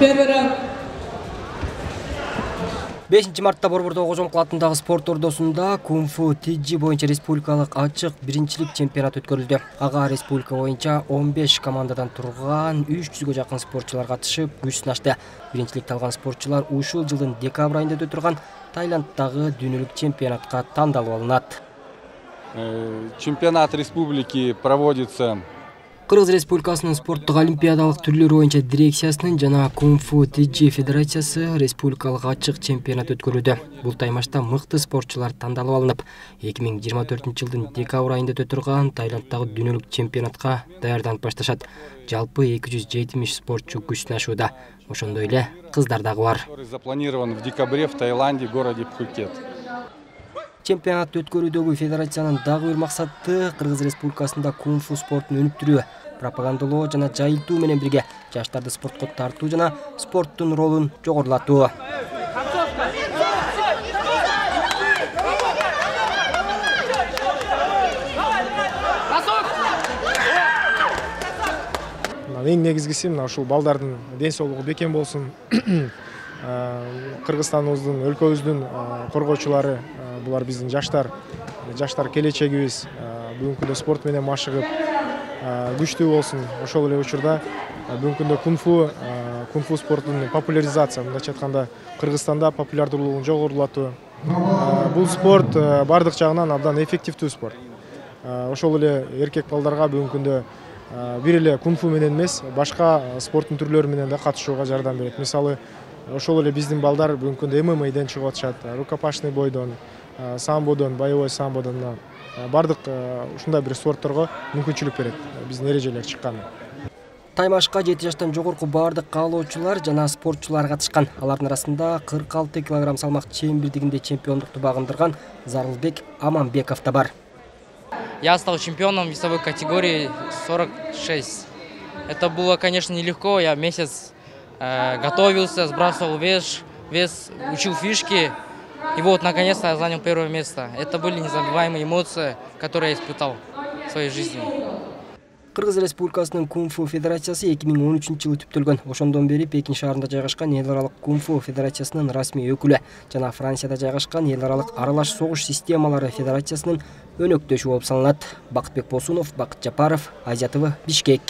Первый раунд. 5 мартта Борбордо Кожомкул атындагы спорт ордосунда кунг-фу тиджи боюнча республикалык ачык биринчилик чемпионаты өткөрүлдү. Ага республика боюнча 15 командадан турган 300гө жакын спортчулар катышып, күч сынашты. Биринчиликти алган спортчулар ушул жылдын декабрь айында өтө Таиланддагы дүйнөлүк чемпионатка тандалып алынат. Чемпионат республики проводится. Кыргыз Республикасынын спорттук олимпиадалык түрлөрү боюнча дирекциясынын жана кунг-фу тиджи федерациясы республикалык ачык чемпионат өткөрүүдө. Бул таймашта мыкты спортчулар тандалып алынып, 2024-жылдын декабрь айында өтө Таиланддагы дүйнөлүк чемпионатка даярданып башташат. Жалпы 270 спортчу күч сынашууда. Ошондой эле кыздар дагы бар. Запланирован в декабре в Таиланде, городе Пхукет. Чемпионат өткөрүүдөгү федерациянын дагы бир максаты Кыргыз Республикасында кунг-фу спортун өнүктүрүү, пропагандалоо жана жайылтуу менен бирге жаштарды спортко тартуу жана спорттун ролун жогорулатуу. Эң негизгиси мына ушул балдардын ден соолугу бекем болсун. Кыргызстаныбыздын, өлкөбүздүн коргоочулары, булар биздин жаштар келечегибиз. Бүгүнкү күндө спорт менен машыгып, күчтүү болсун. Ошол эле учурда бүгүнкү күндө кунг-фу спортунун популяризация, мындайча айтканда, Кыргызстанда популярдуулугун жогорулатуу. Бул спорт бардык жагынан абдан эффективдүү спорт. Ошол эле эркек балдарга бүгүнкү күндө бир эле кунг-фу менен эмес, башка спорттун түрлөрү менен да катышууга жардам берет. Мисалы, ошол эле биздин балдар бүгүнкү күндө ММА'ден чыгып атышат, рукопашный бойдон, самбодон, боевой самбодон, бардык ушундай бир спортторго мүмкүнчүлүк берет биздин эрежелер чыкканы. Таймашка 7 жаштан жогорку бардык каалоочулар жана спортчулар катышкан. Алардын арасында 46 кг салмак чембирдигинде чемпиондукту багындырган Зарылбек Аманбеков да бар. Я стал чемпионом весовой категории 46. Это было, конечно, нелегко. Я месяц готовился, сбрасывал вес, учил фишки. И вот, наконец-то, я занял первое место. Это были незабываемые эмоции, которые я испытал в своей жизни. Кыргыз Республикасынын кунг-фу федерациясы 2013-жылы түптөлгөн. Ошондон бери Пекин шаарында жайгашкан эл аралык кунг-фу федерациясынын расмий өкүлү жана Францияда жайгашкан эл аралык аралаш согуш системалары федерациясынын өнөктөшү болуп саналат. Бакытбек Босунов, Бакыт Жапаров, Азия ТВ, Бишкек.